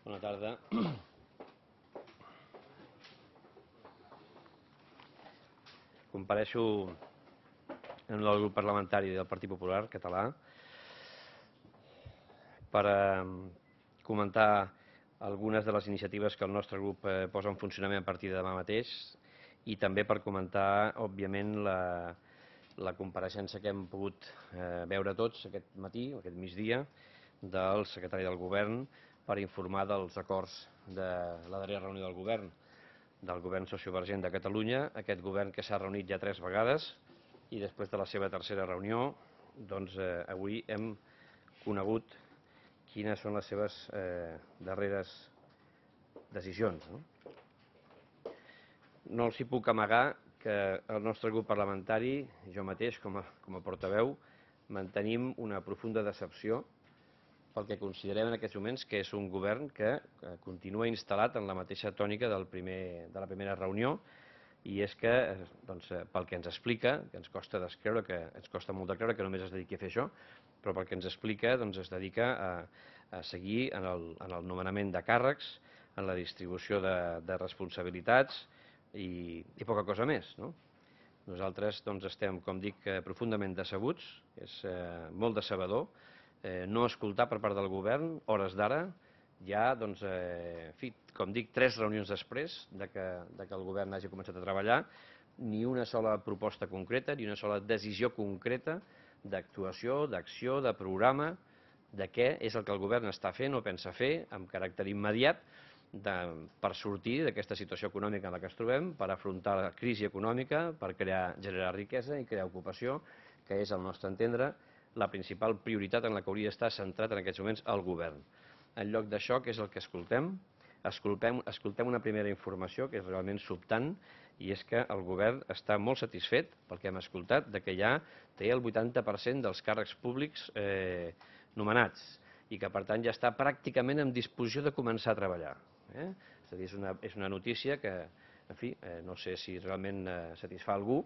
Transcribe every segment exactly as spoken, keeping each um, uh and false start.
Bona tarda. Compareixo en el grup parlamentari del Partit Popular Català per comentar algunes de les iniciatives que el nostre grup posa en funcionament a partir de demà mateix i també per comentar, òbviament, la, la compareixença que hem pogut eh, veure tots aquest matí, aquest migdia, del secretari del Govern per informar dels acords de la darrera reunió del Govern, del Govern Sociovergent de Catalunya, aquest Govern que s'ha reunit ja tres vegades i després de la seva tercera reunió, doncs eh, avui hem conegut quines són les seves eh, darreres decisions. No? no els hi puc amagar que el nostre grup parlamentari, jo mateix com a, com a portaveu, mantenim una profunda decepció pel que considerem en aquests moments que és un govern que continua instal·lat en la mateixa tònica del primer, de la primera reunió, i és que, doncs, pel que ens explica, que ens costa descreure, que ens costa molt de creure que només es dediqui a fer això, però pel que ens explica, doncs, es dedica a, a seguir en el, en el nomenament de càrrecs, en la distribució de, de responsabilitats i, i poca cosa més. No? Nosaltres doncs, estem, com dic, profundament decebuts, és eh, molt decebedor, eh, no escoltar per part del govern, hores d'ara, ja, doncs, eh, en fi, com dic, tres reunions després de que, de que el govern hagi començat a treballar, ni una sola proposta concreta, ni una sola decisió concreta d'actuació, d'acció, de programa, de què és el que el govern està fent o pensa fer amb caràcter immediat de, per sortir d'aquesta situació econòmica en la que ens trobem, per afrontar la crisi econòmica, per crear, generar riquesa i crear ocupació, que és, al nostre entendre, la principal prioritat en la que hauria d'estar centrat en aquests moments el govern. En lloc d'això, què és el que escoltem? Escoltem, escoltem una primera informació que és realment sobtant, i és que el govern està molt satisfet, pel que hem escoltat, de que ja té el vuitanta per cent dels càrrecs públics eh, nomenats i que, per tant, ja està pràcticament en disposició de començar a treballar. Eh? És a dir, és una, és una notícia que, en fi, eh, no sé si realment eh, satisfà algú,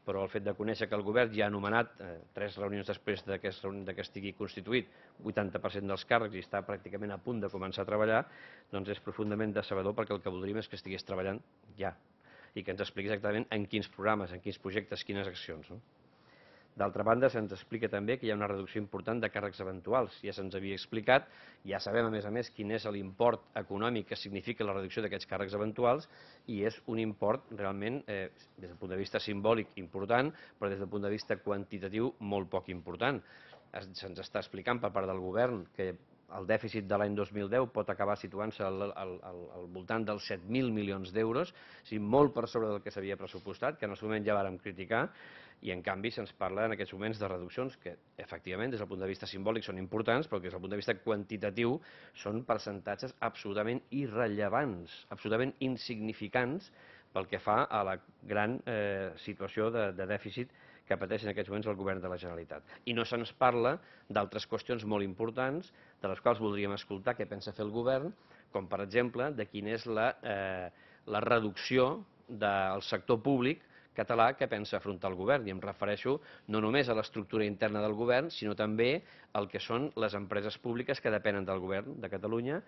però el fet de conèixer que el govern ja ha nomenat eh, tres reunions després de que, de que estigui constituït vuitanta per cent dels càrrecs i està pràcticament a punt de començar a treballar, doncs és profundament decebedor, perquè el que voldríem és que estigués treballant ja i que ens expliqui exactament en quins programes, en quins projectes, quines accions. No? D'altra banda, se'ns explica també que hi ha una reducció important de càrrecs eventuals. Ja se'ns havia explicat, ja sabem a més a més quin és l'import econòmic que significa la reducció d'aquests càrrecs eventuals, i és un import realment, eh, des del punt de vista simbòlic, important, però des del punt de vista quantitatiu molt poc important. Se'ns està explicant per part del govern que el dèficit de l'any dos mil deu pot acabar situant-se al, al, al, al voltant dels set mil milions d'euros, o sigui, molt per sobre del que s'havia pressupostat, que en el seu moment ja vàrem criticar, i en canvi se'ns parla en aquests moments de reduccions que, efectivament, des del punt de vista simbòlic són importants, però que des del punt de vista quantitatiu són percentatges absolutament irrellevants, absolutament insignificants pel que fa a la gran eh, situació de, de dèficit que pateix en aquests moments el govern de la Generalitat. I no se'ns parla d'altres qüestions molt importants, de les quals voldríem escoltar què pensa fer el govern, com per exemple de quina és la, eh, la reducció del sector públic català que pensa afrontar el govern. I em refereixo no només a l'estructura interna del govern, sinó també al que són les empreses públiques que depenen del govern de Catalunya,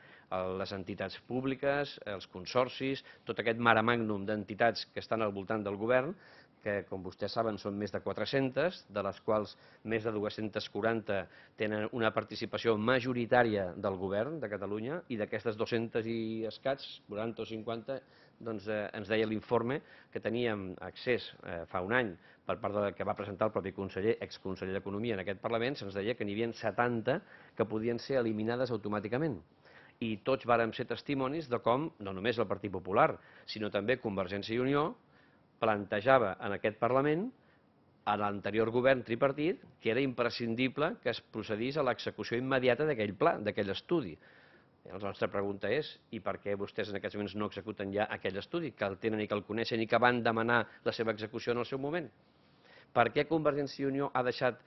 les entitats públiques, els consorcis, tot aquest mare magnum d'entitats que estan al voltant del govern, que, com vostès saben, són més de quatre-centes, de les quals més de dues-centes quaranta tenen una participació majoritària del govern de Catalunya, i d'aquestes dues-centes i escaig, quaranta o cinquanta, doncs eh, ens deia l'informe que teníem accés eh, fa un any per part del que va presentar el propi conseller, exconseller d'Economia en aquest Parlament, se'ns deia que n'hi havia setanta que podien ser eliminades automàticament. I tots vàrem ser testimonis de com, no només el Partit Popular, sinó també Convergència i Unió, plantejava en aquest Parlament, a l'anterior govern tripartit, que era imprescindible que es procedís a l'execució immediata d'aquell pla, d'aquell estudi. La nostra pregunta és, i per què vostès en aquests moments no executen ja aquell estudi, que el tenen i que el coneixen i que van demanar la seva execució en el seu moment? Per què Convergència i Unió ha deixat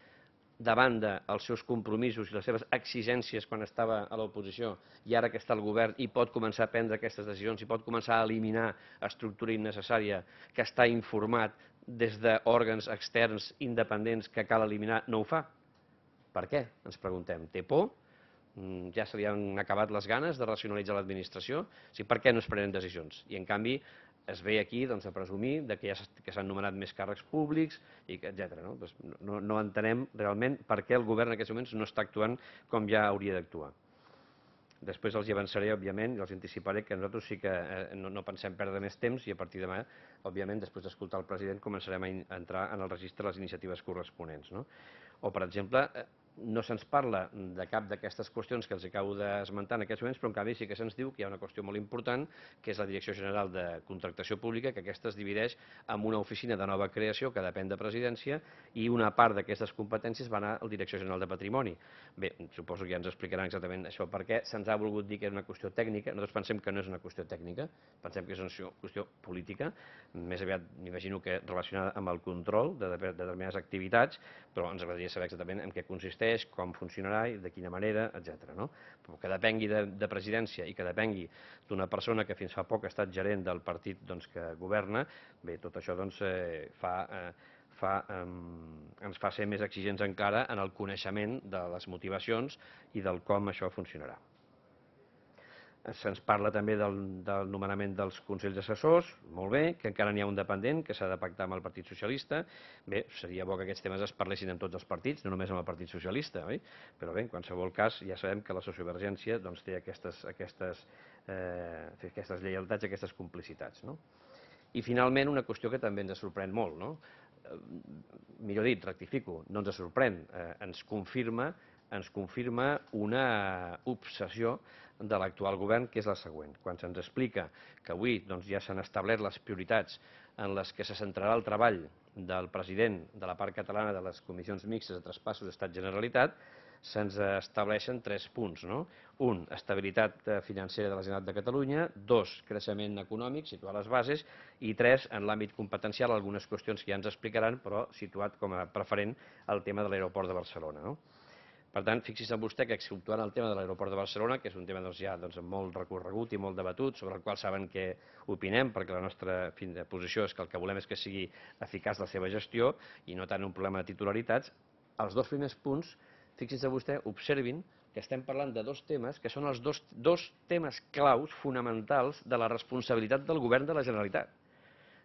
de banda els seus compromisos i les seves exigències quan estava a l'oposició, i ara que està al govern i pot començar a prendre aquestes decisions i pot començar a eliminar estructura innecessària que està informat des d'òrgans externs independents que cal eliminar, no ho fa? Per què? Ens preguntem. Té por? ja se li han acabat les ganes de racionalitzar l'administració, o sigui, per què no es prenen decisions? I en canvi es ve aquí doncs, a presumir de que ja s'han nomenat més càrrecs públics, i etcètera. No? Doncs no, no entenem realment per què el govern en aquests moments no està actuant com ja hauria d'actuar. Després els hi avançaré, òbviament, i els anticiparé que nosaltres sí que eh, no, no pensem perdre més temps i a partir de demà, òbviament, després d'escoltar el president, començarem a entrar en el registre de les iniciatives corresponents. No? O, per exemple, no se'ns parla de cap d'aquestes qüestions que els acabo d'esmentar en aquests moments, però en canvi sí que se'ns diu que hi ha una qüestió molt important, que és la Direcció General de Contractació Pública, que aquesta es divideix en una oficina de nova creació que depèn de Presidència i una part d'aquestes competències va anar a la Direcció General de Patrimoni. Bé, suposo que ja ens explicaran exactament això, perquè se'ns ha volgut dir que era una qüestió tècnica. Nosaltres pensem que no és una qüestió tècnica, pensem que és una qüestió política, més aviat m'imagino que relacionada amb el control de determinades activitats, però ens agradaria saber exactament en què consisteix, com funcionarà i de quina manera, etcètera. No? Però que depengui de, de presidència i que depengui d'una persona que fins fa poc ha estat gerent del partit doncs, que governa, bé, tot això doncs, eh, fa... Eh, Fa, eh, ens fa ser més exigents encara en el coneixement de les motivacions i del com això funcionarà. Se'ns parla també del, del nomenament dels consells assessors, molt bé, que encara n'hi ha un dependent, que s'ha de pactar amb el Partit Socialista. Bé, seria bo que aquests temes es parlessin en tots els partits, no només amb el Partit Socialista, oi? Però bé, en qualsevol cas, ja sabem que la sociovergència doncs, té aquestes, aquestes, eh, aquestes lleialtats, aquestes complicitats. No? I finalment, una qüestió que també ens sorprèn molt, no? Millor dit, rectifico, no ens sorprèn, eh, ens confirma, ens confirma una obsessió de l'actual govern, que és la següent. Quan se'ns explica que avui doncs, ja s'han establert les prioritats en les que se centrarà el treball del president de la part catalana de les comissions mixtes de traspassos Estat-Generalitat, se'ns estableixen tres punts. No? Un, estabilitat financera de la Generalitat de Catalunya. Dos, creixement econòmic, situar les bases. I tres, en l'àmbit competencial, algunes qüestions que ja ens explicaran, però situat com a preferent el tema de l'aeroport de Barcelona. No? Per tant, fixi's en vostè que exceptuant el tema de l'aeroport de Barcelona, que és un tema doncs, ja doncs, molt recorregut i molt debatut, sobre el qual saben què opinem, perquè la nostra fin de posició és que el que volem és que sigui eficaç la seva gestió i no tant un problema de titularitats, els dos primers punts, fixi's vostè, observin que estem parlant de dos temes que són els dos, dos temes claus fonamentals de la responsabilitat del govern de la Generalitat.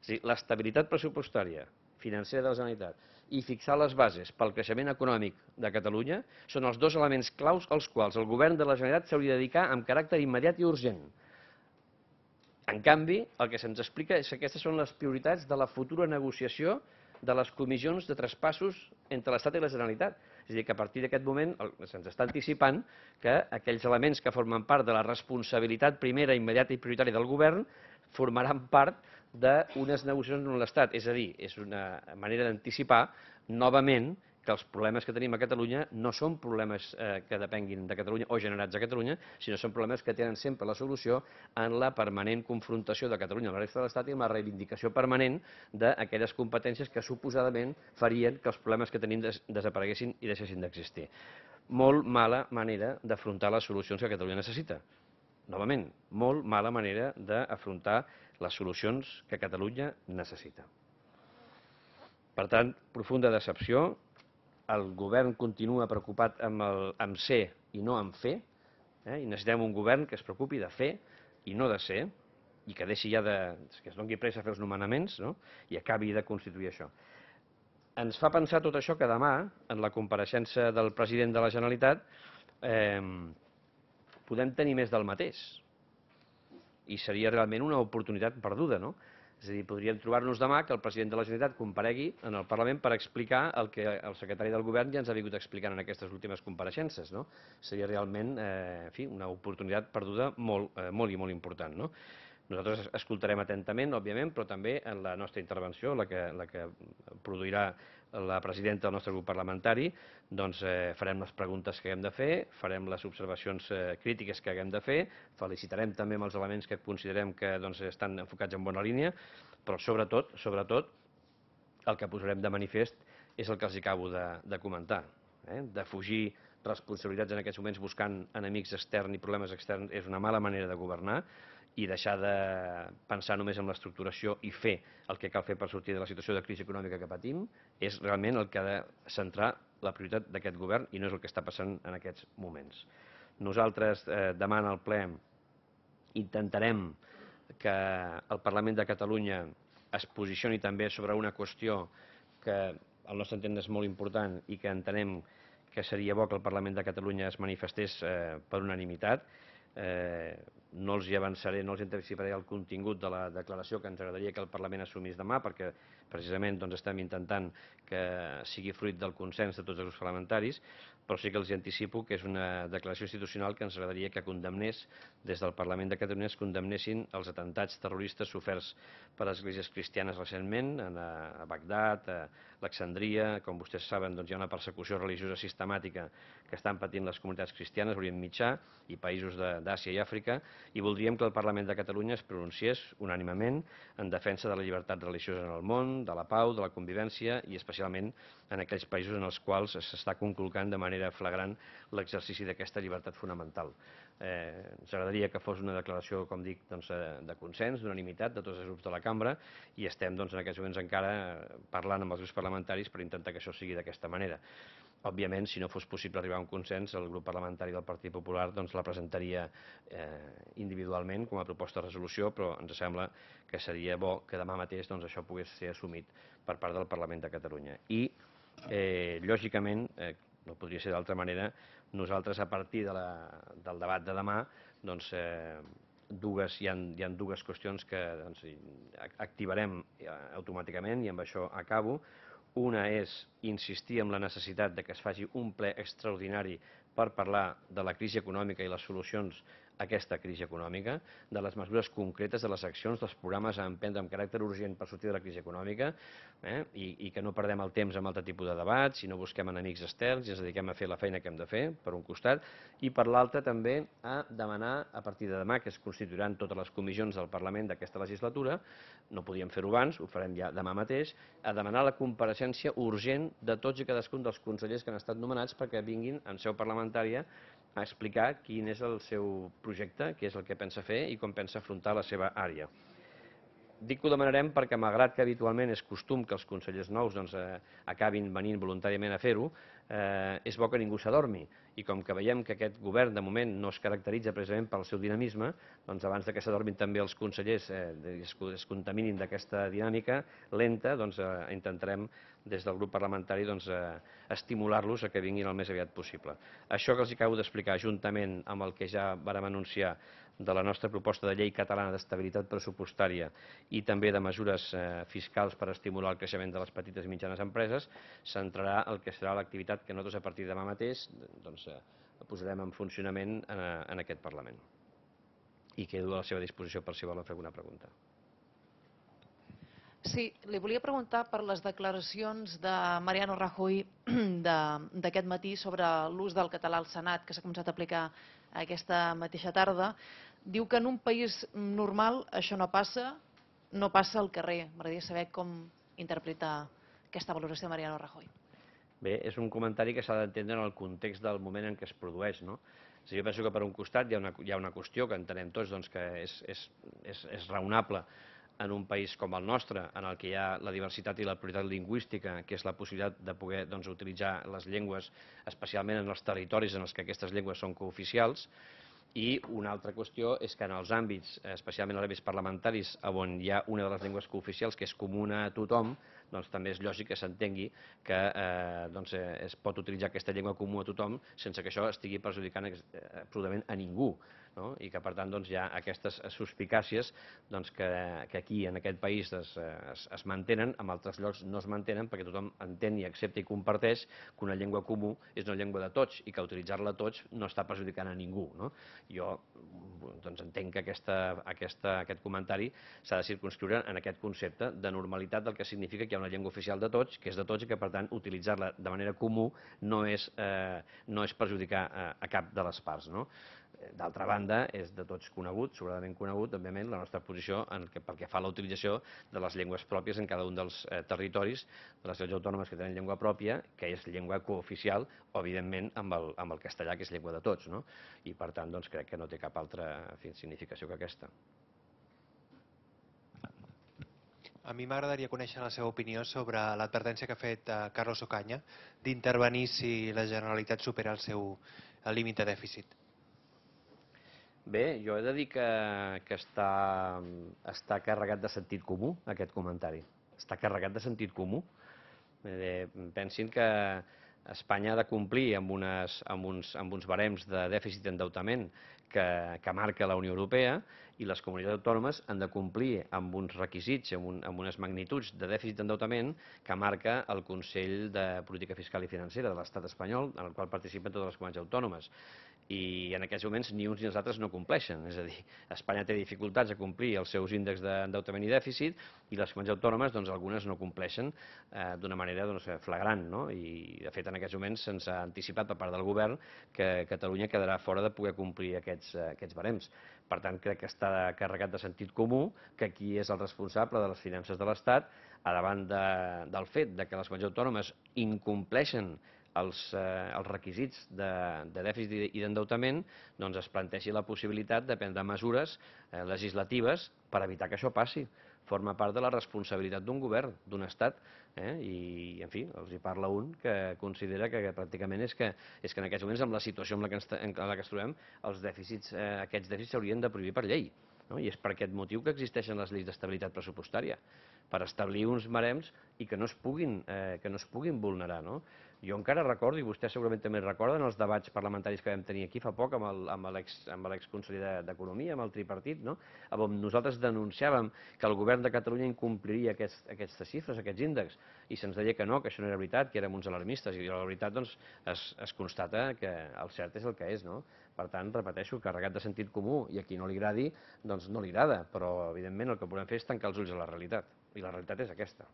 És a dir, l'estabilitat pressupostària financera de la Generalitat i fixar les bases pel creixement econòmic de Catalunya són els dos elements claus als quals el govern de la Generalitat s'hauria de dedicar amb caràcter immediat i urgent. En canvi, el que se'ns explica és que aquestes són les prioritats de la futura negociació de les comissions de traspassos entre l'Estat i la Generalitat. És a dir, que a partir d'aquest moment se'ns està anticipant que aquells elements que formen part de la responsabilitat primera, immediata i prioritària del govern formaran part d'unes negociacions amb l'Estat. És a dir, és una manera d'anticipar novament que els problemes que tenim a Catalunya no són problemes eh, que depenguin de Catalunya o generats a Catalunya, sinó són problemes que tenen sempre la solució en la permanent confrontació de Catalunya amb la resta de l'Estat i en la reivindicació permanent d'aquelles competències que suposadament farien que els problemes que tenim des desapareguessin i deixessin d'existir. Molt mala manera d'afrontar les solucions que Catalunya necessita. Novament, molt mala manera d'afrontar les solucions que Catalunya necessita. Per tant, profunda decepció. El govern continua preocupat amb, el, amb ser i no amb fer, eh? I necessitem un govern que es preocupi de fer i no de ser, i que deixi ja de... que es doni pressa a fer els nomenaments, no? I acabi de constituir això. Ens fa pensar tot això que demà, en la compareixença del president de la Generalitat, eh, podem tenir més del mateix. I seria realment una oportunitat perduda, no? És a dir, podríem trobar-nos demà que el president de la Generalitat comparegui en el Parlament per explicar el que el secretari del Govern ja ens ha vingut explicant en aquestes últimes compareixences, no? Seria realment eh, en fi, una oportunitat perduda molt, eh, molt i molt important, no? Nosaltres escoltarem atentament, òbviament, però també en la nostra intervenció, la que, la que produirà la presidenta del nostre grup parlamentari, doncs eh, farem les preguntes que haguem de fer, farem les observacions eh, crítiques que haguem de fer, felicitarem també amb els elements que considerem que doncs, estan enfocats en bona línia, però sobretot, sobretot, el que posarem de manifest és el que els acabo de, de comentar. Eh? De fugir responsabilitats en aquests moments buscant enemics externs i problemes externs és una mala manera de governar, i deixar de pensar només en l'estructuració i fer el que cal fer per sortir de la situació de crisi econòmica que patim és realment el que ha de centrar la prioritat d'aquest govern i no és el que està passant en aquests moments. Nosaltres eh, demà en el ple intentarem que el Parlament de Catalunya es posicioni també sobre una qüestió que al nostre entendre és molt important i que entenem que seria bo que el Parlament de Catalunya es manifestés eh, per unanimitat. Eh, no els hi avançaré, no els anticiparé el contingut de la declaració que ens agradaria que el Parlament assumís demà, perquè precisament doncs, estem intentant que sigui fruit del consens de tots els grups parlamentaris, però sí que els anticipo que és una declaració institucional que ens agradaria que condemnés, des del Parlament de Catalunya es condemnessin els atemptats terroristes soferts per les esglésies cristianes recentment, a Bagdad, a Alexandria. Com vostès saben, doncs, hi ha una persecució religiosa sistemàtica que estan patint les comunitats cristianes a Orient Mitjà i països d'Àsia i Àfrica, i voldríem que el Parlament de Catalunya es pronunciés unànimement en defensa de la llibertat religiosa en el món, de la pau, de la convivència i especialment en aquells països en els quals s'està conculcant de manera flagrant l'exercici d'aquesta llibertat fonamental. Eh, ens agradaria que fos una declaració, com dic, doncs, de consens, d'unanimitat de tots els grups de la cambra, i estem doncs, en aquests moments encara parlant amb els grups parlamentaris per intentar que això sigui d'aquesta manera. Òbviament, si no fos possible arribar a un consens, el grup parlamentari del Partit Popular doncs, la presentaria eh, individualment com a proposta de resolució, però ens sembla que seria bo que demà mateix doncs, això pogués ser assumit per part del Parlament de Catalunya. I, eh, lògicament, eh, no podria ser d'altra manera, nosaltres a partir de la, del debat de demà, doncs, eh, dues, hi, ha, hi ha dues qüestions que doncs, activarem automàticament, i amb això acabo. Una és insistir en la necessitat de que es faci un ple extraordinari per parlar de la crisi econòmica i les solucions a aquesta crisi econòmica, de les mesures concretes, de les accions, dels programes a emprendre amb caràcter urgent per sortir de la crisi econòmica, eh? I, i que no perdem el temps amb altre tipus de debats, sinó busquem enemics externs i ens dediquem a fer la feina que hem de fer, per un costat, i per l'altre també a demanar, a partir de demà, que es constituiran totes les comissions del Parlament d'aquesta legislatura, no podíem fer-ho abans, ho farem ja demà mateix, a demanar la compareixença urgent de tots i cadascun dels consellers que han estat nomenats perquè vinguin en seu parlamentària a explicar quin és el seu projecte, què és el que pensa fer i com pensa afrontar la seva àrea. Dic que ho demanarem perquè, malgrat que habitualment és costum que els consellers nous doncs, eh, acabin venint voluntàriament a fer-ho, eh, és bo que ningú s'adormi. I com que veiem que aquest govern de moment no es caracteritza precisament pel seu dinamisme, doncs abans de que s'adormin també els consellers eh, es, es contaminin d'aquesta dinàmica lenta, doncs eh, intentarem des del grup parlamentari doncs, eh, estimular-los a que vinguin el més aviat possible. Això que els acabo d'explicar, juntament amb el que ja vàrem anunciar de la nostra proposta de llei catalana d'estabilitat pressupostària i també de mesures eh, fiscals per estimular el creixement de les petites i mitjanes empreses, centrarà el que serà l'activitat que nosaltres a partir de demà mateix doncs, eh, posarem en funcionament en, en aquest Parlament. I quedo a la seva disposició per si volen fer alguna pregunta. Sí, li volia preguntar per les declaracions de Mariano Rajoy d'aquest matí sobre l'ús del català al Senat, que s'ha començat a aplicar aquesta mateixa tarda. Diu que en un país normal això no passa, no passa al carrer. M'agradaria saber com interpreta aquesta valoració de Mariano Rajoy. Bé, és un comentari que s'ha d'entendre en el context del moment en què es produeix, no? O sigui, jo penso que per un costat hi ha una, hi ha una qüestió que entenem tots doncs, que és, és, és, és raonable en un país com el nostre, en el que hi ha la diversitat i la pluralitat lingüística, que és la possibilitat de poder doncs, utilitzar les llengües, especialment en els territoris en els que aquestes llengües són cooficials. I una altra qüestió és que en els àmbits, especialment en els àmbits parlamentaris, on hi ha una de les llengües cooficials que és comuna a tothom, doncs també és lògic que s'entengui que eh, doncs, eh, es pot utilitzar aquesta llengua comú a tothom sense que això estigui perjudicant absolutament a ningú. No? I que per tant doncs, hi ha aquestes suspicàcies doncs, que, que aquí en aquest país es, es, es mantenen, en altres llocs no es mantenen perquè tothom entén i accepta i comparteix que una llengua comú és una llengua de tots i que utilitzar-la tots no està perjudicant a ningú. No? Jo doncs, entenc que aquesta, aquesta, aquest comentari s'ha de circunscriure en aquest concepte de normalitat del que significa que hi ha una llengua oficial de tots, que és de tots i que per tant utilitzar-la de manera comú no és, eh, no és perjudicar a, a cap de les parts. No? D'altra banda, és de tots conegut, sobradament conegut, òbviament, la nostra posició en que, pel que fa a la utilització de les llengües pròpies en cada un dels eh, territoris de les ciutats autònomes que tenen llengua pròpia, que és llengua cooficial, o, evidentment, amb el, amb el castellà, que és llengua de tots. No? I, per tant, doncs, crec que no té cap altra en fi, significació que aquesta. A mi m'agradaria conèixer la seva opinió sobre l'advertència que ha fet eh, Carlos Ocaña d'intervenir si la Generalitat supera el seu el límit de dèficit. Bé, jo he de dir que, que està, està carregat de sentit comú, aquest comentari. Està carregat de sentit comú. Eh, pensin que Espanya ha de complir amb, unes, amb, uns, amb uns barems de dèficit d'endeutament que, que marca la Unió Europea i les comunitats autònomes han de complir amb uns requisits, amb, un, amb unes magnituds de dèficit d'endeutament que marca el Consell de Política Fiscal i Financera de l'Estat espanyol, en el qual participen totes les comunitats autònomes. I en aquests moments ni uns ni els altres no compleixen. És a dir, Espanya té dificultats a complir els seus índexs d'endeutament i dèficit i les comunitats autònomes, doncs, algunes no compleixen eh, d'una manera doncs, flagrant, no? I, de fet, en aquests moments se'ns ha anticipat per part del govern que Catalunya quedarà fora de poder complir aquests, aquests barems. Per tant, crec que està carregat de sentit comú que qui és el responsable de les finances de l'Estat, a davant de, del fet de que les comunitats autònomes incompleixen els, eh, els requisits de, de dèficit i d'endeutament, doncs es plantegi la possibilitat de prendre mesures eh, legislatives per evitar que això passi. Forma part de la responsabilitat d'un govern, d'un estat, eh? I, en fi, els hi parla un que considera que, que pràcticament és que, és que en aquests moments, amb la situació en la que ens, en la que ens trobem, els dèficits, eh, aquests dèficits s'haurien de prohibir per llei. No? I és per aquest motiu que existeixen les lleis d'estabilitat pressupostària, per establir uns barems i que no es puguin, eh, que no es puguin vulnerar. No? Jo encara recordo, i vostè segurament també recorden, els debats parlamentaris que vam tenir aquí fa poc amb l'exconseller d'Economia, amb el tripartit, no? On nosaltres denunciàvem que el govern de Catalunya incompliria aquests, aquestes xifres, aquests índexs, i se'ns deia que no, que això no era veritat, que érem uns alarmistes, i la veritat doncs, es, es constata que el cert és el que és. No? Per tant, repeteixo, carregat de sentit comú, i a qui no li agradi, doncs no li agrada, però evidentment el que podem fer és tancar els ulls a la realitat, i la realitat és aquesta.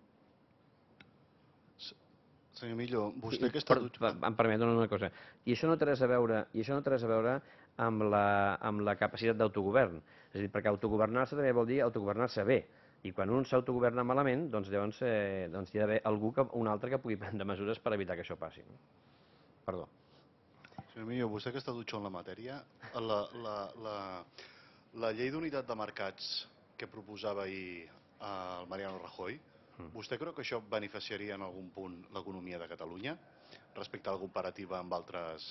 Senyor Millo, vostè que està... Per, em permet una cosa. I això no té res a veure, i això no té res a veure amb la, amb la capacitat d'autogovern. És a dir, perquè autogovernar-se també vol dir autogovernar-se bé. I quan un s'autogoverna malament, doncs llavors eh, doncs hi ha d'haver algú, que, un altre que pugui prendre mesures per evitar que això passi. Perdó. Senyor Millo, vostè que està dutxó en la matèria, la, la, la, la llei d'unitat de mercats que proposava ahir el Mariano Rajoy, vostè creu que això beneficiaria en algun punt l'economia de Catalunya respecte a la comparativa amb altres,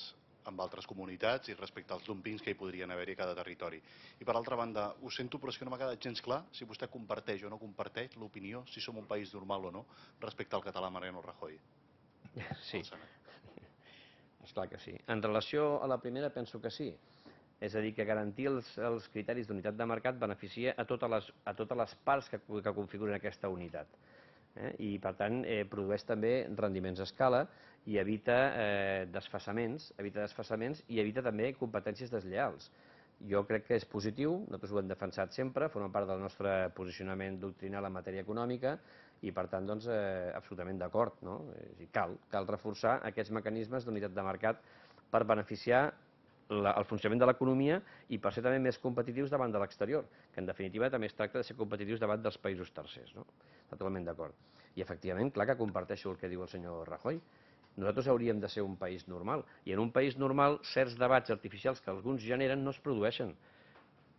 amb altres comunitats i respecte als dumpings que hi podrien haver-hi a cada territori? I per altra banda, ho sento, però és que no m'ha quedat gens clar si vostè comparteix o no comparteix l'opinió, si som un país normal o no, respecte al català Mariano Rajoy. Sí, esclar que sí. En relació a la primera, penso que sí. És a dir, que garantir els, els criteris d'unitat de mercat beneficia a totes les, a totes les parts que, que configuren aquesta unitat. Eh? I, per tant, eh, produeix també rendiments a escala i evita eh, desfasaments, evita desfasaments i evita també competències deslleals. Jo crec que és positiu, nosaltres ho hem defensat sempre, forma part del nostre posicionament doctrinal en matèria econòmica i, per tant, doncs, eh, absolutament d'acord. No? És a dir, cal, cal reforçar aquests mecanismes d'unitat de mercat per beneficiar La, el funcionament de l'economia i per ser també més competitius davant de l'exterior, que en definitiva també es tracta de ser competitius davant dels països tercers. No? Totalment d'acord. I efectivament, clar que comparteixo el que diu el senyor Rajoy. Nosaltres hauríem de ser un país normal, i en un país normal certs debats artificials que alguns generen no es produeixen.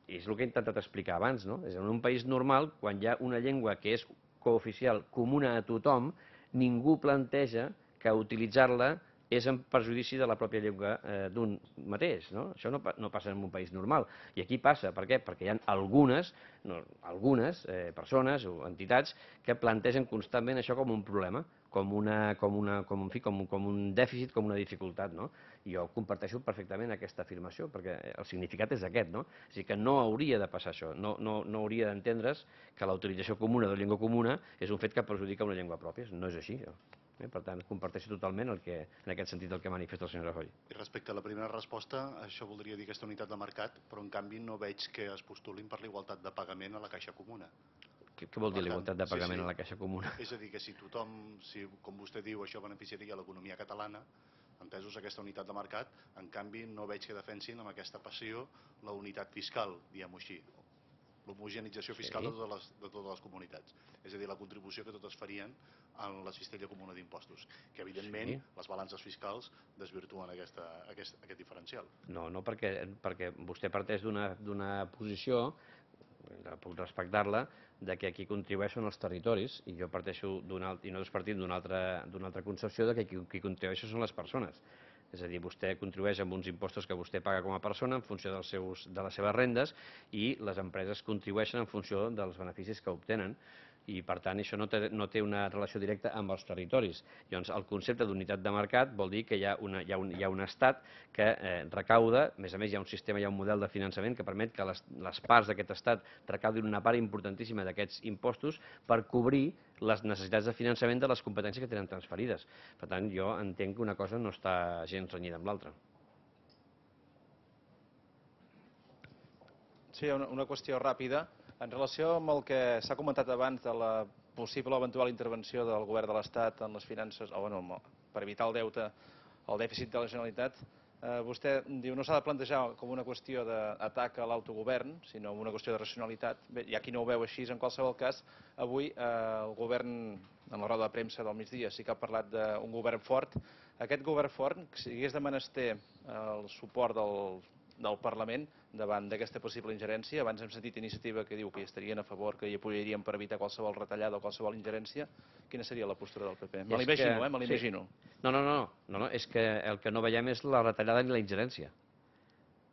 I és el que he intentat explicar abans, no? És en un país normal, quan hi ha una llengua que és cooficial, comuna a tothom, ningú planteja que utilitzar-la és en perjudici de la pròpia llengua eh, d'un mateix. No? Això no, no passa en un país normal. I aquí passa. Per què? Perquè hi ha algunes, no, algunes eh, persones o entitats que plantegen constantment això com un problema, com, una, com, una, com, en fi, com, com un dèficit, com una dificultat. No? I jo comparteixo perfectament aquesta afirmació, perquè el significat és aquest. No? És a dir, que no hauria de passar això. No, no, no hauria d'entendre's que la utilització comuna de la llengua comuna és un fet que perjudica una llengua pròpia. No és així. Jo. Eh, per tant, comparteixo totalment el que, en aquest sentit el que manifesta el senyor Rajoy. I respecte a la primera resposta, això voldria dir aquesta unitat de mercat, però en canvi no veig que es postulin per la igualtat de pagament a la caixa comuna. Què, què vol dir la igualtat de pagament sí, sí. a la caixa comuna? És a dir, que si tothom, si, com vostè diu, això beneficiaria l'economia catalana, entesos aquesta unitat de mercat, en canvi no veig que defensin amb aquesta passió la unitat fiscal, diguem-ho així, l'homogenització fiscal sí. de, totes les, de totes les comunitats. És a dir, la contribució que totes farien en la cistella comuna d'impostos, que evidentment sí. les balances fiscals desvirtuen aquesta, aquest, aquest diferencial. No, no, perquè, perquè vostè parteix d'una posició, puc respectar-la, de que qui contribueixen els territoris, i jo parteixo d'una i nosaltres partim d'una altra, d'una altra concepció de que qui, qui contribueixen són les persones. És a dir, vostè contribueix amb uns impostos que vostè paga com a persona en funció dels seus, de les seves rendes i les empreses contribueixen en funció dels beneficis que obtenen. I, per tant, això no té, no té una relació directa amb els territoris. Llavors, el concepte d'unitat de mercat vol dir que hi ha, una, hi ha, un, hi ha un estat que eh, recauda, a més a més hi ha un sistema, hi ha un model de finançament que permet que les, les parts d'aquest estat recaudin una part importantíssima d'aquests impostos per cobrir les necessitats de finançament de les competències que tenen transferides. Per tant, jo entenc que una cosa no està gens renyida amb l'altra. Sí, una, una qüestió ràpida. En relació amb el que s'ha comentat abans de la possible o eventual intervenció del govern de l'Estat en les finances, o bueno, per evitar el deute, el dèficit de la Generalitat, eh, vostè diu no s'ha de plantejar com una qüestió d'atac a l'autogovern, sinó una qüestió de racionalitat. Bé, hi ha qui no ho veu així, en qualsevol cas, avui eh, el govern, en la roda de premsa del migdia, sí que ha parlat d'un govern fort. Aquest govern fort, si hagués de menester el suport del del Parlament davant d'aquesta possible ingerència. Abans hem sentit iniciativa que diu que hi estarien a favor, que hi apoyaríem per evitar qualsevol retallada o qualsevol ingerència. Quina seria la postura del P P? Me l'imagino, eh? Me l'imagino. No, no, no, no, no, és que el que no veiem és la retallada ni la ingerència.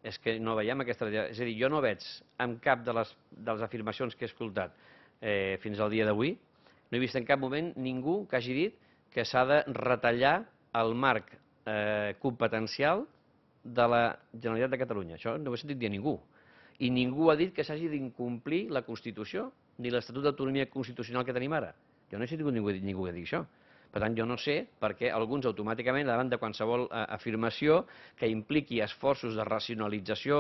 És que no veiem aquesta retallada. És a dir, jo no veig en cap de les, de les afirmacions que he escoltat eh, fins al dia d'avui, no he vist en cap moment ningú que hagi dit que s'ha de retallar el marc eh, competencial de la Generalitat de Catalunya. Això no ho he sentit dir a ningú. I ningú ha dit que s'hagi d'incomplir la Constitució ni l'Estatut d'Autonomia Constitucional que tenim ara. Jo no he sentit ningú, ningú que digui això. Per tant, jo no sé per què alguns automàticament, davant de qualsevol eh, afirmació que impliqui esforços de racionalització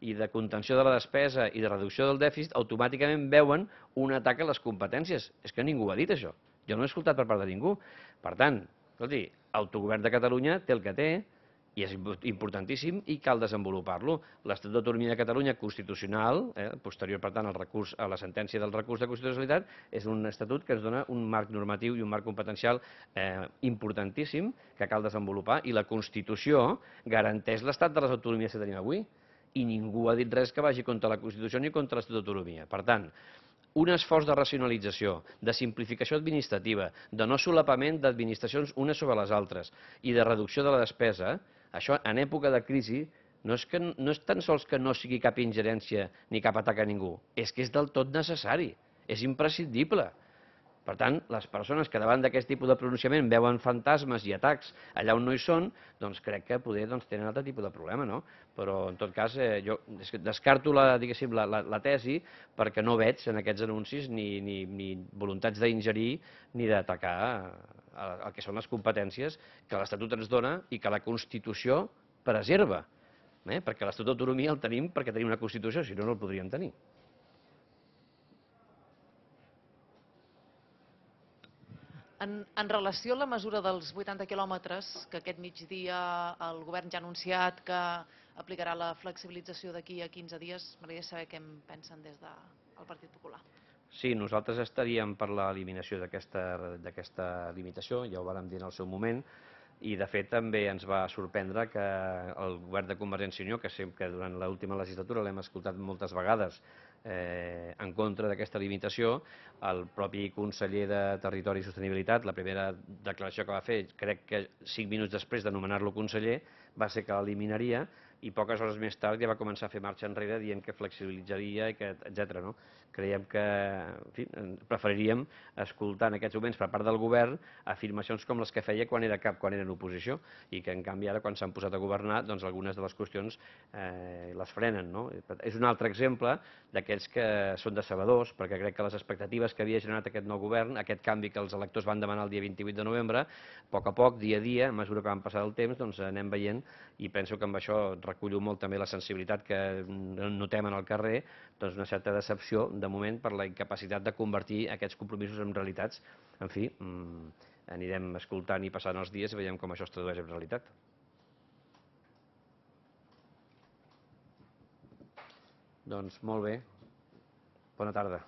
i de contenció de la despesa i de reducció del dèficit, automàticament veuen un atac a les competències. És que ningú ha dit això. Jo no he escoltat per part de ningú. Per tant, escolti, autogovern de Catalunya té el que té, i és importantíssim i cal desenvolupar-lo. L'Estatut d'Autonomia de Catalunya constitucional, eh, posterior per tant al recurs, a la sentència del recurs de constitucionalitat, és un estatut que ens dona un marc normatiu i un marc competencial eh, importantíssim que cal desenvolupar, i la Constitució garanteix l'estat de les autonomies que tenim avui i ningú ha dit res que vagi contra la Constitució ni contra l'Estatut d'Autonomia. Per tant, un esforç de racionalització, de simplificació administrativa, de no solapament d'administracions unes sobre les altres i de reducció de la despesa, això en època de crisi no és, que, no és tan sols que no sigui cap ingerència ni cap atac a ningú, és que és del tot necessari, és imprescindible. Per tant, les persones que davant d'aquest tipus de pronunciament veuen fantasmes i atacs allà on no hi són, doncs crec que poder doncs, tenen altre tipus de problema, no? Però, en tot cas, eh, jo descarto la, diguéssim, la, la, la tesi perquè no veig en aquests anuncis ni, ni, ni voluntats d'ingerir ni d'atacar el que són les competències que l'Estatut ens dona i que la Constitució preserva. Eh? Perquè l'Estatut d'Autonomia el tenim perquè tenim una Constitució, si no, no el podríem tenir. En, en relació a la mesura dels vuitanta quilòmetres, que aquest migdia el govern ja ha anunciat que aplicarà la flexibilització d'aquí a quinze dies, m'agradaria saber què en pensen des del Partit Popular. Sí, nosaltres estaríem per l'eliminació d'aquesta limitació, ja ho vàrem dir en el seu moment, i de fet també ens va sorprendre que el govern de Convergència i Unió, que sempre durant l'última legislatura l'hem escoltat moltes vegades eh, en contra d'aquesta limitació, el propi conseller de Territori i Sostenibilitat, la primera declaració que va fer, crec que cinc minuts després de nomenar-lo conseller, va ser que l'eliminaria, i poques hores més tard ja va començar a fer marxa enrere dient que flexibilitzaria, etcètera. No? Creiem que en fi, preferiríem escoltar en aquests moments per part del govern afirmacions com les que feia quan era cap, quan era en oposició, i que en canvi ara quan s'han posat a governar doncs algunes de les qüestions eh, les frenen. No? És un altre exemple d'aquells que són decebedors, perquè crec que les expectatives que havia generat aquest nou govern, aquest canvi que els electors van demanar el dia vint-i-vuit de novembre, a poc a poc, dia a dia, a mesura que van passar el temps, doncs anem veient, i penso que amb això recullo molt també la sensibilitat que notem en el carrer, doncs una certa decepció de moment per la incapacitat de convertir aquests compromisos en realitats. En fi, anirem escoltant i passant els dies i veiem com això es tradueix en realitat. Doncs molt bé. Bona tarda.